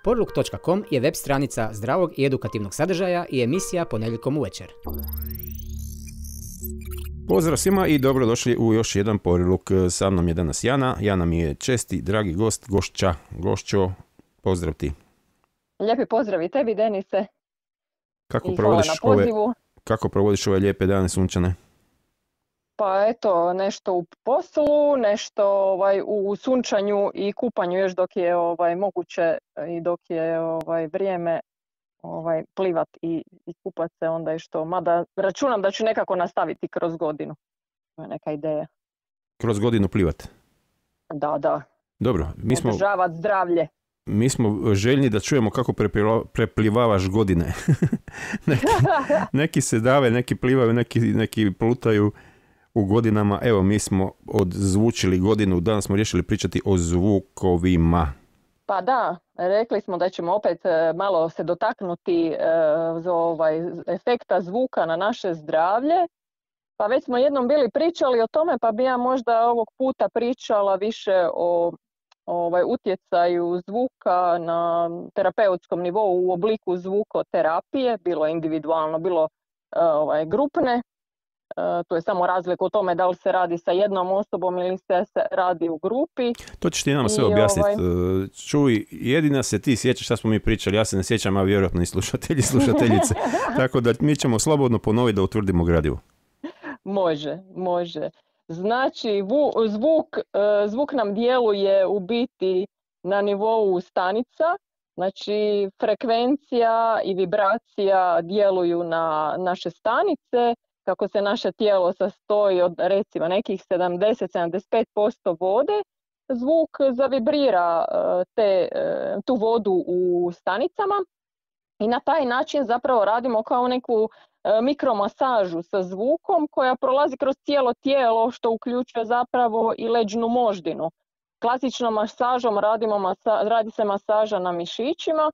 Porluk.com je web stranica zdravog i edukativnog sadržaja i emisija ponedjeljkom uvečer. Pozdrav svima i dobrodošli u još jedan Porluk. Sa mnom je danas Jana. Jana mi je česti, dragi gost, gošćo. Pozdrav ti. Lijepi pozdrav i tebi, Denise. Kako provodiš ove lijepe dane sunčane? Pa eto, nešto u poslu, nešto u sunčanju i kupanju još dok je moguće i dok je vrijeme plivat i kupat se onda je što. Mada računam da ću nekako nastaviti kroz godinu. To je neka ideja. Kroz godinu plivat? Da. Dobro. Održavati zdravlje. Mi smo željni da čujemo kako preplivavaš godine. neki se dave, neki plivaju, neki plutaju u godinama. Evo, mi smo odzvučili godinu, danas smo riješili pričati o zvukovima. Pa da, rekli smo da ćemo opet malo se dotaknuti efekta zvuka na naše zdravlje. Pa već smo jednom bili pričali o tome, pa bi ja možda ovog puta pričala više o utjecaju zvuka na terapeutskom nivou u obliku zvukoterapije, bilo individualno, bilo grupne. To je samo razlika u tome da li se radi sa jednom osobom ili se radi u grupi. To ćeš ti nama sve objasniti. Čuj, jedina se ti sjećaš šta smo mi pričali, ja se ne sjećam, a vjerojatno i slušateljice. Tako da mi ćemo slobodno ponoviti da utvrdimo gradivo. Može. Znači, zvuk nam djeluje u biti na nivou stanica. Znači, frekvencija i vibracija djeluju na naše stanice. Kako se naše tijelo sastoji od recimo nekih 70-75% vode, zvuk zavibrira tu vodu u stanicama i na taj način zapravo radimo kao neku mikromasažu sa zvukom koja prolazi kroz cijelo tijelo što uključuje zapravo i leđnu moždinu. Klasičnom masažom radi se masaža na mišićima,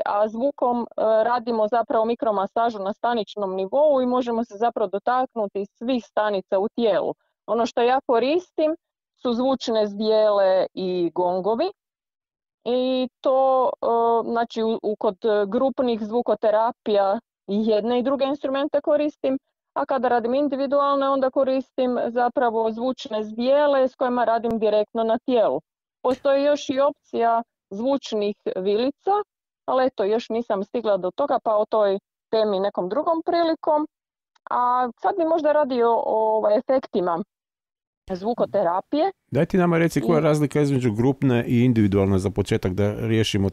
a zvukom radimo zapravo mikromasažu na staničnom nivou i možemo se zapravo dotaknuti svih stanica u tijelu. Ono što ja koristim su zvučne zdjele i gongovi i to znači kod grupnih zvukoterapija i jedne i druge instrumente koristim, a kada radim individualne onda koristim zapravo zvučne zdjele s kojima radim direktno na tijelu. Postoji još i opcija zvučnih vilica, ali eto, još nisam stigla do toga, pa o toj temi nekom drugom prilikom. A sad bi možda radio o efektima zvukoterapije. Daj ti nama reci koja je razlika između grupne i individualne za početak da riješimo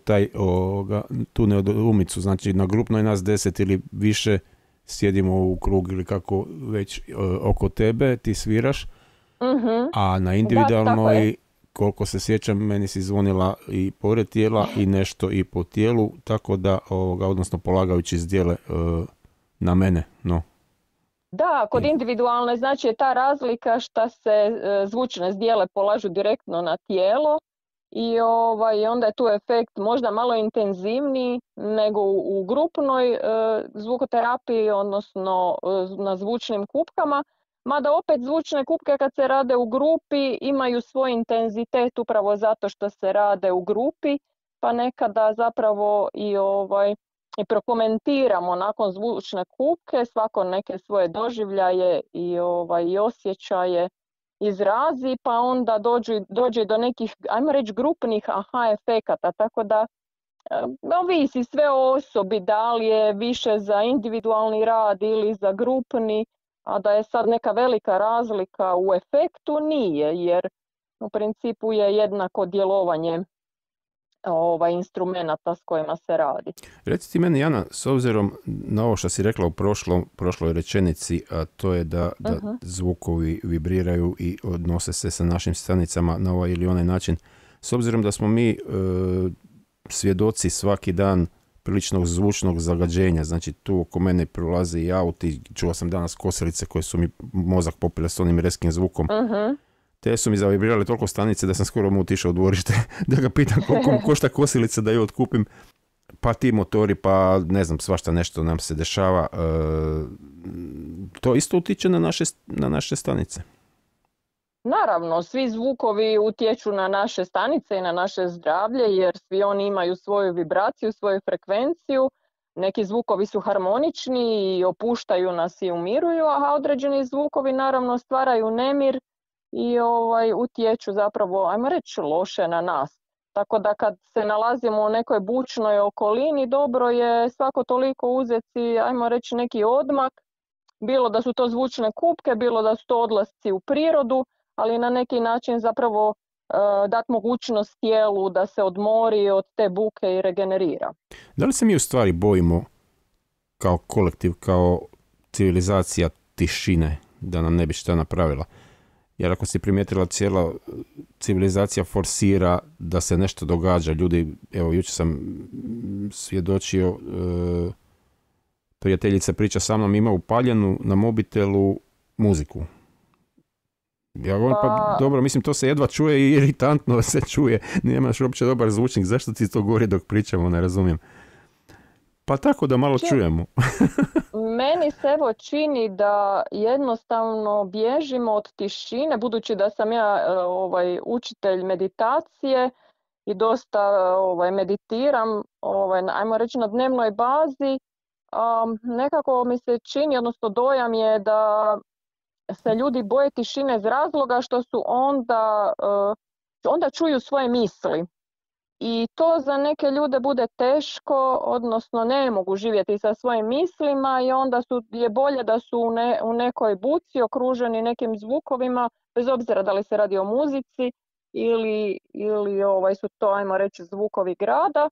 tu nedoumicu. Znači na grupnoj nas 10 ili više sjedimo u krug ili kako već oko tebe, ti sviraš, a na individualnoj koliko se sjećam, meni si zvonila i pored tijela i nešto i po tijelu, tako da, odnosno polagajući zdjele na mene, no. Da, kod individualne znači je ta razlika što se zvučne zdjele polažu direktno na tijelo i onda je tu efekt možda malo intenzivniji nego u grupnoj zvukoterapiji, odnosno na zvučnim kupkama. Mada opet zvučne kupke kad se rade u grupi imaju svoj intenzitet upravo zato što se rade u grupi, pa nekada zapravo i prokomentiramo nakon zvučne kupke svako neke svoje doživljaje i osjećaje izrazi, pa onda dođe do nekih, ajmo reći, grupnih aha efekata, tako da ovisi sve o osobi, da li je više za individualni rad ili za grupni. A da je sad neka velika razlika u efektu, nije, jer u principu je jednako djelovanje instrumenata s kojima se radi. Reci ti meni, Jana, s obzirom na ovo što si rekla u prošloj rečenici, a to je da zvukovi vibriraju i odnose se sa našim stanicama na ovaj ili onaj način, s obzirom da smo mi svjedoci svaki dan priličnog zvučnog zagađenja, znači tu oko mene prolaze i auti, čuo sam danas kosilice koje su mi mozak popile s onim reskim zvukom. Te su mi zavibrirale toliko stanice da sam skoro mu otišao u dvorište da ga pitam koliko košta kosilica da ju otkupim, pa ti motori, pa ne znam, svašta nešto nam se dešava. To isto utiče na naše stanice. Naravno, svi zvukovi utječu na naše stanice i na naše zdravlje jer svi oni imaju svoju vibraciju, svoju frekvenciju. Neki zvukovi su harmonični i opuštaju nas i umiruju, a određeni zvukovi naravno stvaraju nemir i utječu zapravo, ajmo reći, loše na nas. Tako da kad se nalazimo u nekoj bučnoj okolini, dobro je svako toliko uzeti, ajmo reći, neki odmak, bilo da su to zvučne kupke, bilo da su to odlasci u prirodu, ali na neki način zapravo dati mogućnost tijelu da se odmori od te buke i regenerira. Da li se mi u stvari bojimo kao kolektiv, kao civilizacija tišine, da nam ne bi šta napravila? Jer ako si primijetila, cijela civilizacija forsira da se nešto događa. Ljudi, evo, jučer sam svjedočio, prijateljica priča sa mnom, ima upaljenu na mobitelu muziku. Ja govorim, pa dobro, mislim, to se jedva čuje i iritantno se čuje. Nemaš uopće dobar zvučnik, zašto ti to govori dok pričamo, ne razumijem. Pa tako da malo čujemo. Meni se evo čini da jednostavno bježimo od tišine, budući da sam ja učitelj meditacije i dosta meditiram, ajmo reći, na dnevnoj bazi. Nekako mi se čini, odnosno dojam je da se ljudi boje tišine iz razloga što su onda čuju svoje misli. I to za neke ljude bude teško, odnosno ne mogu živjeti sa svojim mislima i onda je bolje da su u nekoj buci okruženi nekim zvukovima, bez obzira da li se radi o muzici ili su to, ajmo reći, zvukovi grada,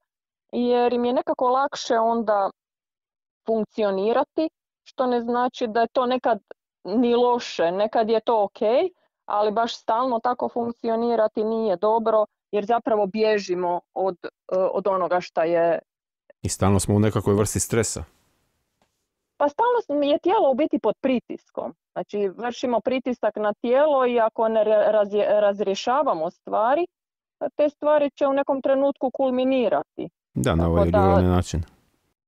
jer im je nekako lakše onda funkcionirati, što ne znači da je to nekad ni loše, nekad je to ok, ali baš stalno tako funkcionirati nije dobro, jer zapravo bježimo od onoga šta je... I stalno smo u nekakvoj vrsti stresa. Pa stalno je tijelo u biti pod pritiskom. Znači, vršimo pritisak na tijelo i ako ne razrješavamo stvari, te stvari će u nekom trenutku kulminirati. Da, na ovaj ili onaj način.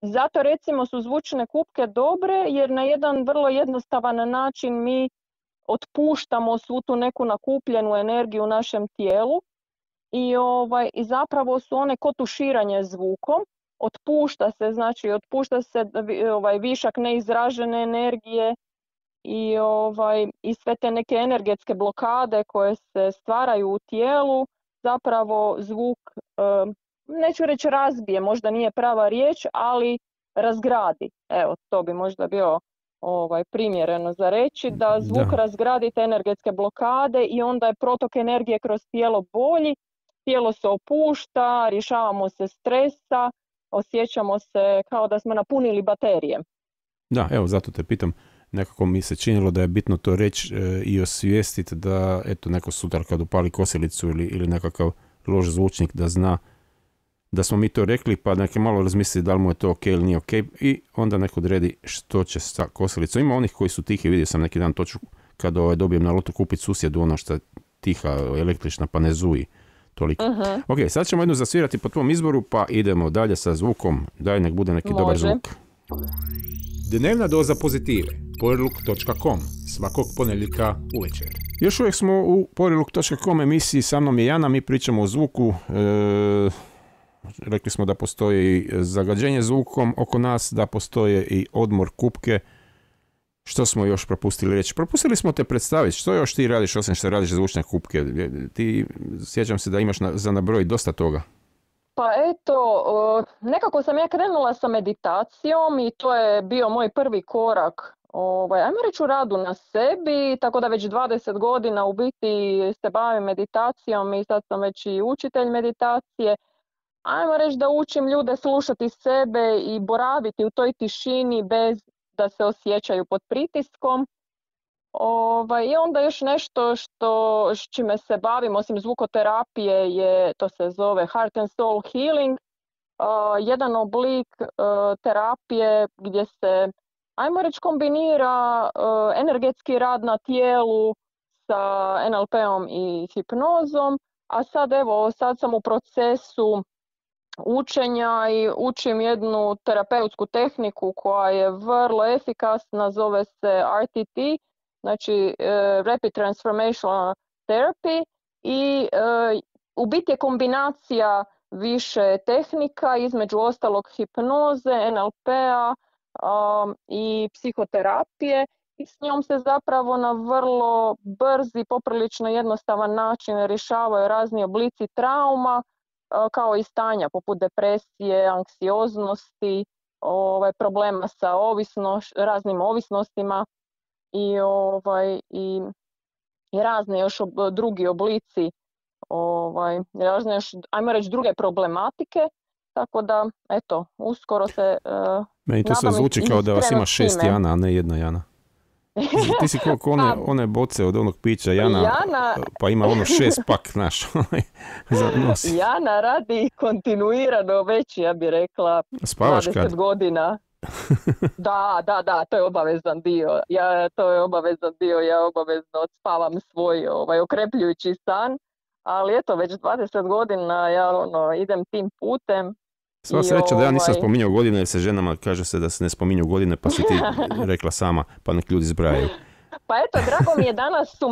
Zato recimo su zvučne kupke dobre, jer na jedan vrlo jednostavan način mi otpuštamo svu tu neku nakupljenu energiju u našem tijelu i zapravo su one ko tuširanje zvukom. Otpušta se višak neizražene energije i sve te neke energetske blokade koje se stvaraju u tijelu, zapravo zvuk, neću reći razbije, možda nije prava riječ, ali razgradi. Evo, to bi možda bio primjereno za reći, da zvuk razgradi te energetske blokade i onda je protok energije kroz tijelo bolji, tijelo se opušta, rješavamo se stresa, osjećamo se kao da smo napunili baterije. Da, evo, zato te pitam. Nekako mi se činilo da je bitno to reći i osvijestiti da, eto, neko sutra kad upali kosilicu ili nekakav loš zvučnik da zna da smo mi to rekli, pa neke malo razmisli da li mu je to ok ili nije ok i onda neko odredi što će sa kosilicom. Ima onih koji su tihi, vidio sam neki dan toču kad dobijem na lotu kupiti susjedu ono što je tiha, električna, pa ne zuji toliko. Uh-huh. Ok, sad ćemo jednu zasvirati po tvom izboru, pa idemo dalje sa zvukom. Daj, nek bude neki dobar zvuk. Dnevna doza pozitive. Poriluk.com. Svakog ponedjeljka uvečer. Još uvijek smo u Poriluk.com emisiji, sa mnom je Jana, mi pričamo o zvuku. Rekli smo da postoji zagađenje zvukom oko nas, da postoje i odmor kupke. Što smo još propustili reći? Propustili smo te predstaviti. Što još ti radiš osim što radiš zvučne kupke? Ti, sjećam se da imaš za nabrojiti dosta toga. Pa eto, nekako sam ja krenula sa meditacijom i to je bio moj prvi korak, ajmo reći, u radu na sebi, tako da već 20 godina u biti se bavim meditacijom i sad sam već i učitelj meditacije. Ajmo reći da učim ljude slušati sebe i boraviti u toj tišini bez da se osjećaju pod pritiskom. I onda još nešto s čime se bavim, osim zvukoterapije, to se zove Heart and Soul Healing, jedan oblik terapije gdje se, ajmo reći, kombinira energetski rad na tijelu sa NLP-om i hipnozom, a sad sam u procesu učenja i učim jednu terapeutsku tehniku koja je vrlo efikasna, zove se RTT, znači Rapid therapy i u biti je kombinacija više tehnika, između ostalog hipnoze, NLP-a i psihoterapije i s njom se zapravo na vrlo brz i poprilično jednostavan način rješavaju razni oblici trauma kao i stanja poput depresije, anksioznosti, problema sa raznim ovisnostima i razne još drugi oblici, razne još, ajmo reći, druge problematike, tako da, eto, uskoro se meni to se zvuči kao da vas ima 6 Jana, a ne jedna Jana. Ti si koliko one boce od onog pića Jana, pa ima 6 pak, znaš, za nos. Jana radi kontinuirano već, ja bih rekla, spavaš 20 kad? godina. Da, to je obavezan dio. Ja obavezno odspavam svoj okrepljujući san, ali eto, već 20 godina ja idem tim putem. Sva sreća da ja nisam spominjao godine, jer se ženama kaže se da se ne spominju godine, pa si ti rekla sama, pa nek ljudi zbrajaju. Pa eto, drago mi je, danas su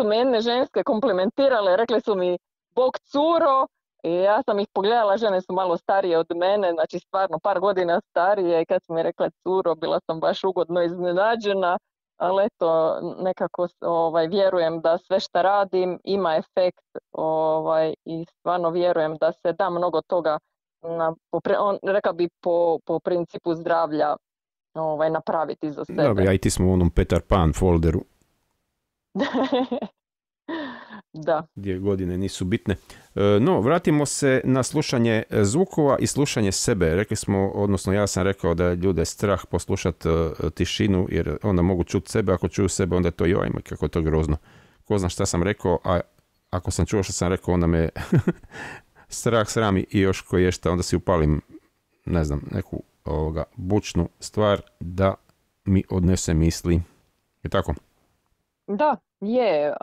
me jedne ženske komplimentirale, rekle su mi bog curo, i ja sam ih pogledala, žene su malo starije od mene, znači stvarno par godina starije, i kad su mi rekle curo, bila sam baš ugodno iznenađena, ali eto, nekako vjerujem da sve što radim ima efekt i stvarno vjerujem da se da mnogo toga rekao bi po principu zdravlja napraviti za sebe. Dobro, ja i ti smo u onom Peter Pan folderu. Da. Gdje godine nisu bitne. No, vratimo se na slušanje zvukova i slušanje sebe. Rekli smo, odnosno ja sam rekao da je ljude strah poslušati tišinu, jer onda mogu čuti sebe, ako čuju sebe onda je to jojma, kako je to grozno. Ko zna šta sam rekao, a ako sam čuo što sam rekao, onda me strah srami i još koji je šta, onda si upalim, ne znam, neku bučnu stvar da mi odnese misli. Je tako? Da, je.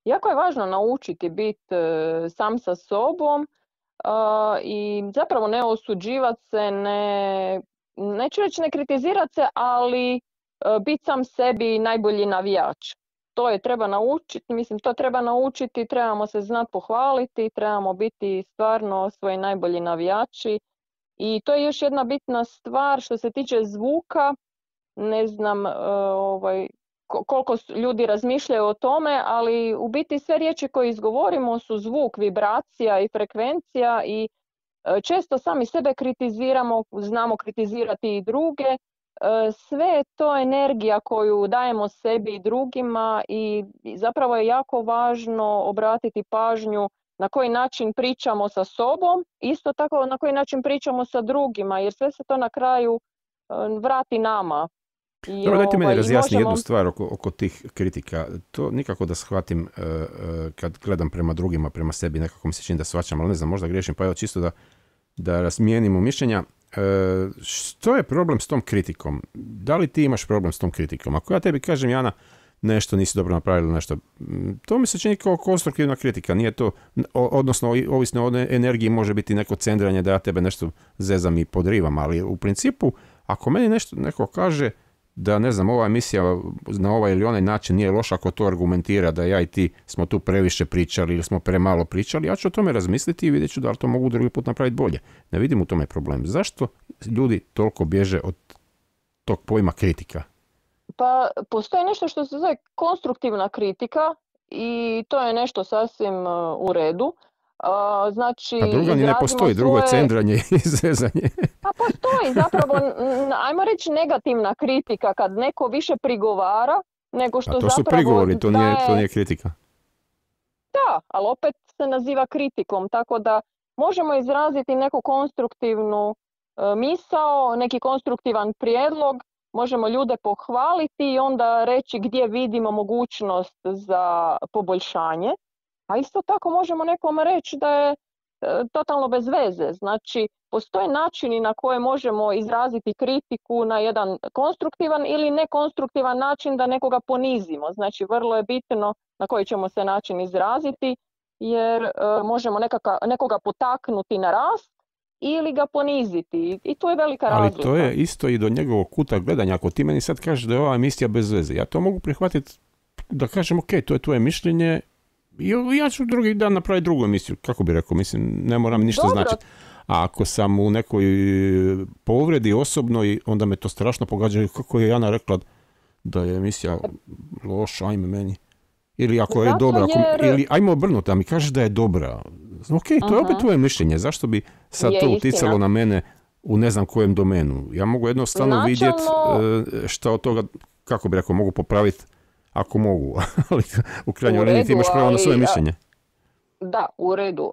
Jako je važno naučiti biti sam sa sobom i zapravo ne osuđivati se, neću reći ne kritizirati se, ali biti sam sebi najbolji navijač. To treba naučiti, trebamo se znati pohvaliti, trebamo biti stvarno svoji najbolji navijači. I to je još jedna bitna stvar što se tiče zvuka, ne znam koliko ljudi razmišljaju o tome, ali u biti sve riječi koje izgovorimo su zvuk, vibracija i frekvencija i često sami sebe kritiziramo, znamo kritizirati i druge. Sve je to energija koju dajemo sebi i drugima i zapravo je jako važno obratiti pažnju na koji način pričamo sa sobom, isto tako na koji način pričamo sa drugima, jer sve se to na kraju vrati nama. Dobro, dajte meni razjasni jednu stvar oko tih kritika. To nikako da shvatim kad gledam prema drugima, prema sebi, nekako mi se čini da shvaćam, ali ne znam, možda griješim, pa evo čisto da razmijenimo mišljenja. Što je problem s tom kritikom? Da li ti imaš problem s tom kritikom? Ako ja tebi kažem, Jana, nešto nisi dobro napravila, nešto, to mi se čini kao konstruktivna kritika, nije to, odnosno ovisno od energiji može biti neko cendranje da ja tebe nešto zezam i podrivam, ali u principu, ako meni neko kaže da, ne znam, ova emisija na ovaj ili onaj način nije loša, ako to argumentira da ja i ti smo tu previše pričali ili smo premalo pričali, ja ću o tome razmisliti i vidjet ću da li to mogu drugi put napraviti bolje. Ne vidim u tome problem. Zašto ljudi toliko bježe od tog pojma kritika? Pa postoji nešto što se zove konstruktivna kritika i to je nešto sasvim u redu. Znači, a druga ni ne postoji, drugo je cendranje i zezanje. Pa postoji zapravo, ajmo reći, negativna kritika kad neko više prigovara nego što zapravo to su prigovori, to nije kritika. Da, ali opet se naziva kritikom, tako da možemo izraziti neku konstruktivnu misao, neki konstruktivan prijedlog, možemo ljude pohvaliti i onda reći gdje vidimo mogućnost za poboljšanje. A isto tako možemo nekome reći da je totalno bez veze. Znači, postoje načini na koje možemo izraziti kritiku na jedan konstruktivan ili nekonstruktivan način da nekoga ponizimo. Znači, vrlo je bitno na koji ćemo se način izraziti, jer možemo nekoga potaknuti na rast ili ga poniziti. I tu je velika razlika. Ali to je isto i do njegovog kuta gledanja. Ako ti meni sad kažeš da je ova emisija bez veze, ja to mogu prihvatiti da kažem ok, to je tvoje mišljenje, Ja ću drugi dan napraviti drugu emisiju, kako bi rekao, mislim, ne moram ništa Dobro. značiti. A ako sam u nekoj povredi osobnoj, onda me to strašno pogađa, kako je Jana rekla da je emisija loša, ajme meni. Ili ako je Zato dobra, ili ajmo obrnuti, a mi kažeš da je dobra. Ok, to je opet tvoje mišljenje, zašto bi sad Je to istina. uticalo na mene u ne znam kojem domenu. Ja mogu jednostavno Načelno- vidjeti šta od toga, kako bi rekao, mogu popraviti ako mogu, ali u krajnjoj U liniji ti redu, imaš pravo na svoje ali, mišljenje. Da, u redu.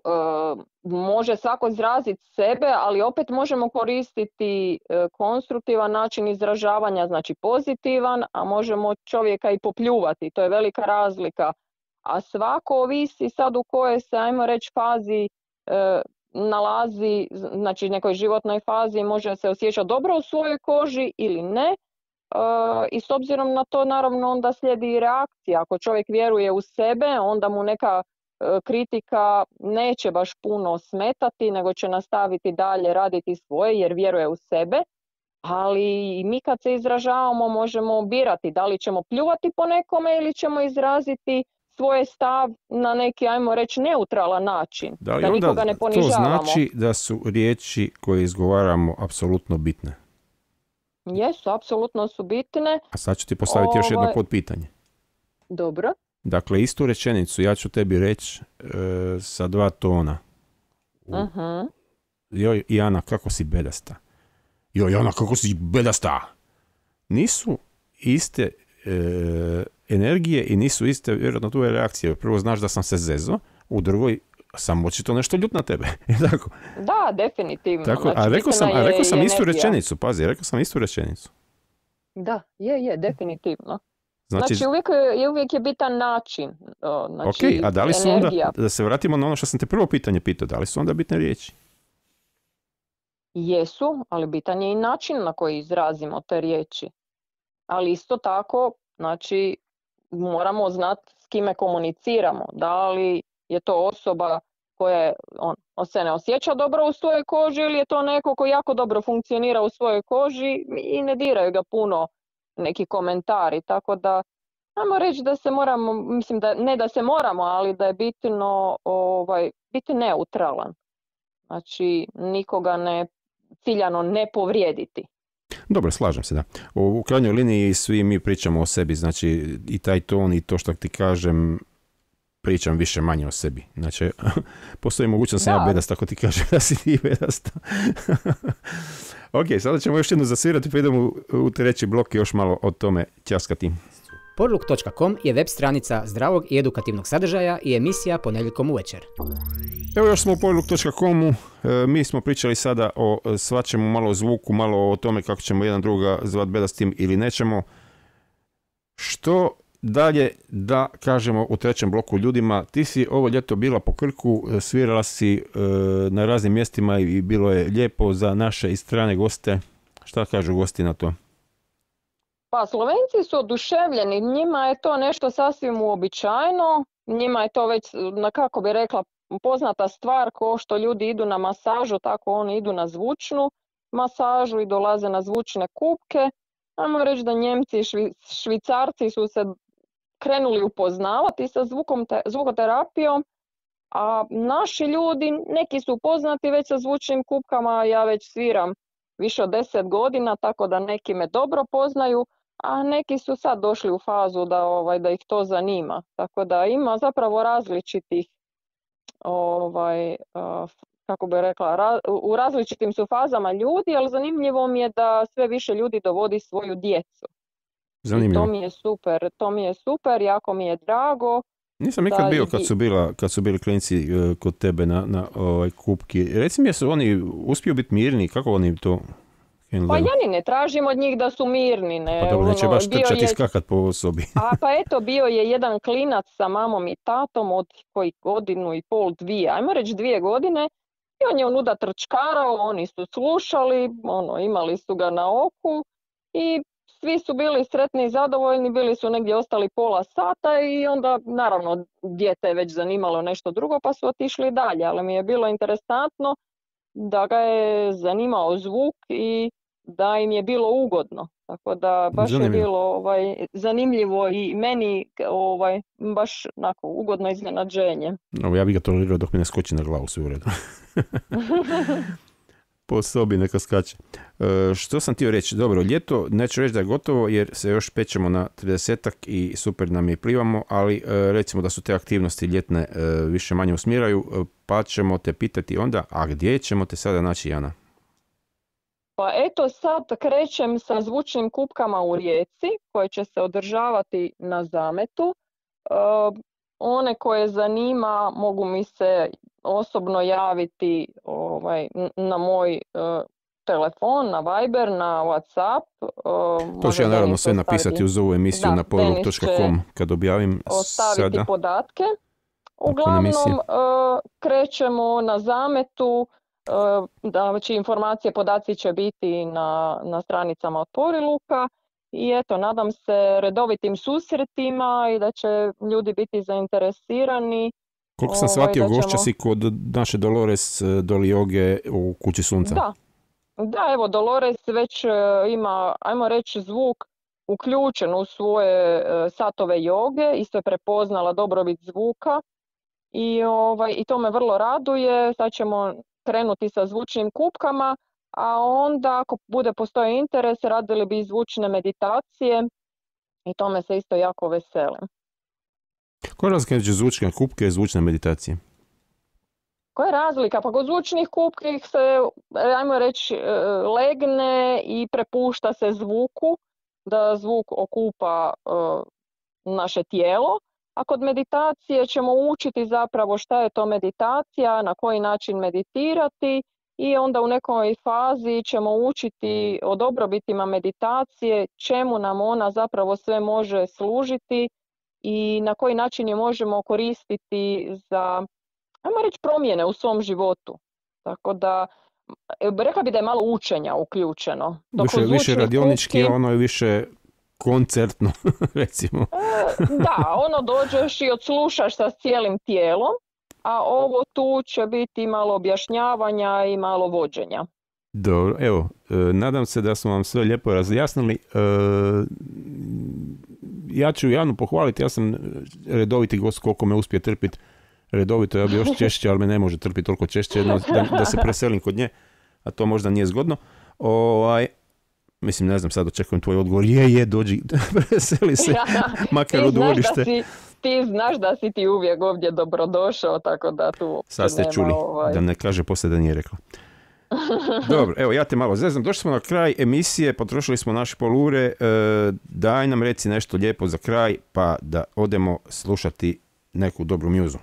Može svako izraziti sebe, ali opet možemo koristiti konstruktivan način izražavanja, znači pozitivan, a možemo čovjeka i popljuvati. To je velika razlika. A svako ovisi sad u kojoj se, ajmo reći, fazi nalazi, znači nekoj životnoj fazi, može se osjećati dobro u svojoj koži ili ne. I s obzirom na to naravno onda slijedi i reakcija. Ako čovjek vjeruje u sebe, onda mu neka kritika neće baš puno smetati, nego će nastaviti dalje raditi svoje jer vjeruje u sebe. Ali mi kad se izražavamo možemo birati da li ćemo pljuvati po nekome ili ćemo izraziti svoj stav na neki, ajmo reći, neutralan način. Da li Da onda nikoga ne to ponižavamo. znači da su riječi koje izgovaramo apsolutno bitne? Jesu, apsolutno su bitne. A sad ću ti postaviti još jedno Ovaj- podpitanje. Dobro. Dakle, istu rečenicu ja ću tebi reći sa 2 tona. Mhm. Joj, Jana, kako si bedasta. Joj, Jana, kako si bedasta. Nisu iste energije i nisu iste, vjerojatno, tvoje reakcije. Prvo znaš da sam se zezo, u drugoj sam očito nešto ljut na tebe. Tako? Da, definitivno. Tako, Znači, a rekao sam bitna je istu energija. rečenicu, pazi, rekao sam istu rečenicu. Da, je, definitivno. Znači, Znači uvijek je bitan način. Znači, ok, a da li su energija. onda, da se vratimo na ono što sam te prvo pitanje pitao, da li su onda bitne riječi? Jesu, ali bitan je i način na koji izrazimo te riječi. Ali isto tako, znači, moramo znati s kime komuniciramo. Da li je to osoba koja se ne osjeća dobro u svojoj koži ili je to neko koji jako dobro funkcionira u svojoj koži i ne diraju ga puno neki komentari. Tako da, ajmo reći da se moramo, mislim da ne da se moramo, ali da je bitno biti neutralan. Znači, nikoga ciljano ne povrijediti. Dobro, slažem se, da. U krajnjoj liniji svi mi pričamo o sebi, znači i taj ton i to što ti kažem, pričam više manje o sebi. Znači, postoji mogućnost da sam ja bedast, ako ti kažem da si ti bedasta. Ok, sada ćemo još jednu zasvirati, pa idemo u treći blok i još malo o tome ćaskati. Porluk.com je web stranica zdravog i edukativnog sadržaja i emisija ponedjeljkom uvečer. Evo još smo u Porluk.com-u, mi smo pričali sada o svačemu, malo o zvuku, malo o tome kako ćemo jedan druga zvat bedastim ili nećemo. Što dalje da kažemo u trećem bloku ljudima? Ti si ovo ljeto bila po Krku, svirala si na raznim mjestima i bilo je lijepo za naše i strane goste. Šta kažu gosti na to? Pa Slovenci su oduševljeni, njima je to nešto sasvim uobičajeno, njima je to već, kako bi rekla, poznata stvar, ko što ljudi idu na masažu, tako oni idu na zvučnu masažu i dolaze na zvučne kupke. Ajmo reći da Njemci i Švicarci su se krenuli upoznavati sa zvukoterapijom, a naši ljudi, neki su upoznati već sa zvučnim kupkama, ja već sviram više od 10 godina, tako da neki me dobro poznaju, a neki su sad došli u fazu da ih to zanima. Tako da ima zapravo različitih, kako bi rekla, u različitim su fazama ljudi, ali zanimljivo mi je da sve više ljudi dovodi svoju djecu. Zanimljivo. To mi je super, jako mi je drago. Nisam nikad bio kad su bili klinci kod tebe na kupki. Reci mi, jesu oni uspiju biti mirni? Kako oni to handlaju? Pa ja ni ne tražim od njih da su mirni. Ne. Pa dobro, neće baš trčati i skakat po sobi. Pa eto, bio je jedan klinac sa mamom i tatom od koji 1,5 2, ajmo reći 2 godine. I on je onuda trčkarao, oni su slušali, imali su ga na oku i svi su bili sretni i zadovoljni, bili su negdje ostali pola sata i onda naravno dijete je već zanimalo nešto drugo pa su otišli dalje, ali mi je bilo interesantno da ga je zanimao zvuk i da im je bilo ugodno. Tako da baš je bilo zanimljivo i meni baš onako ugodno iznenađenje. Ja bih ga tolerirao dok mi ne skoči na glavu, sve u redu. Po sobi neka skače. Što sam htio reći? Dobro, ljeto neću reći da je gotovo jer se još pećemo na 30-ak i super nam je i plivamo, ali recimo da su te aktivnosti ljetne više manje usmjeraju, pa ćemo te pitati onda, a gdje ćemo te sada naći, Jana? Pa eto sad krećem sa zvučnim kupkama u Rijeci koje će se održavati na Zametu. One koje zanima mogu mi se osobno javiti na moj telefon, na Viber, na WhatsApp. To ću ja naravno sve napisati uz ovu emisiju na powerlook.com kad objavim ostaviti sada podatke. Uglavnom krećemo na Zametu, znači informacije, podaci će biti na stranicama od Powerlooka i eto, nadam se redovitim susretima i da će ljudi biti zainteresirani. Koliko sam shvatio, gošća si kod naše Dolores Dolioge u Kući sunca. Da, evo Dolores već ima, ajmo reći, zvuk uključen u svoje satove joge, isto je prepoznala dobrobit zvuka i to me vrlo raduje. Sad ćemo krenuti sa zvučnim kupkama, a onda ako bude postojao interes radili bi zvučne meditacije i tome se isto jako veselim. Koja je razlika između zvučne kupke i zvučne meditacije? Koja je razlika? Pa kod zvučnih kupki se, ajmo reći, legne i prepušta se zvuku, da zvuk okupa naše tijelo, a kod meditacije ćemo učiti zapravo šta je to meditacija, na koji način meditirati i onda u nekoj fazi ćemo učiti o dobrobitima meditacije, čemu nam ona zapravo sve može služiti i na koji način je možemo koristiti za, ajmo reći, promjene u svom životu. Tako da, rekla bi da je malo učenja uključeno. Više radionički, ono je više koncertno, recimo. Da, dođeš i odslušaš sa cijelim tijelom, a ovo tu će biti malo objašnjavanja i malo vođenja. Dobro, evo, nadam se da smo vam sve lijepo razjasnili. Ja ću Janu pohvaliti, ja sam redoviti gost, koliko me uspije trpiti redovito, ja bi još češće, ali me ne može trpiti toliko češće, da se preselim kod nje, a to možda nije zgodno. Mislim, ne znam, sad očekujem tvoj odgovor. Dođi, preseli se, makar u dvorište. Ti znaš da si ti uvijek ovdje dobrodošao, tako da tu sad ste čuli, da ne kaže poslije da nije rekla. Dobro, evo, ja te malo zeznam. Došli smo na kraj emisije, potrošili smo naše polure. Daj nam reci nešto lijepo za kraj, pa da odemo slušati neku dobru mjuzu.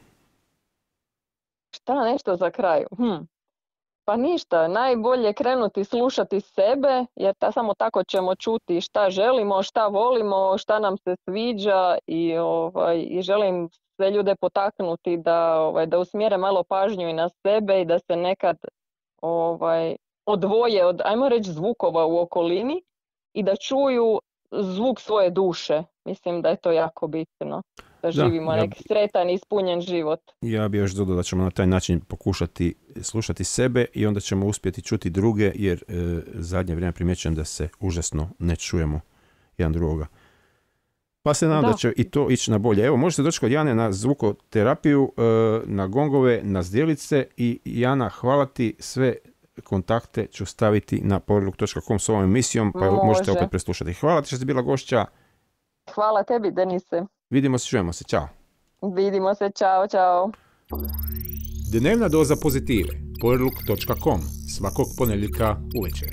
Šta nešto za kraj? Pa ništa, najbolje krenuti slušati sebe, jer samo tako ćemo čuti šta želimo, šta volimo, šta nam se sviđa i želim sve ljude potaknuti da usmjere malo pažnju i na sebe i da se nekad odvoje od, ajmo reći, zvukova u okolini i da čuju zvuk svoje duše. Mislim da je to jako bitno. Da živimo neki sretan i ispunjen život. Ja bih još dodao da ćemo na taj način pokušati slušati sebe i onda ćemo uspjeti čuti druge, jer zadnje vrijeme primjećujem da se užasno ne čujemo jedan drugoga. Pa se nadam da će i to ići na bolje. Evo, možete doći kod Jane na zvukoterapiju, na gongove, na zdjelice i Jana, hvala ti, sve kontakte ću staviti na powerlook.com s ovom emisijom, pa možete opet preslušati. Hvala ti što si bila gošća. Hvala tebi, Denise. Vidimo se, čujemo se, čao. Vidimo se, čao, čao. Dnevna doza pozitive. Powerlook.com. Svakog ponedjeljka uvečer.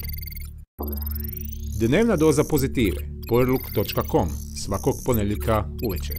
Dnevna doza pozitive. Powerlook.com. Svakog ponedjeljka uvečer.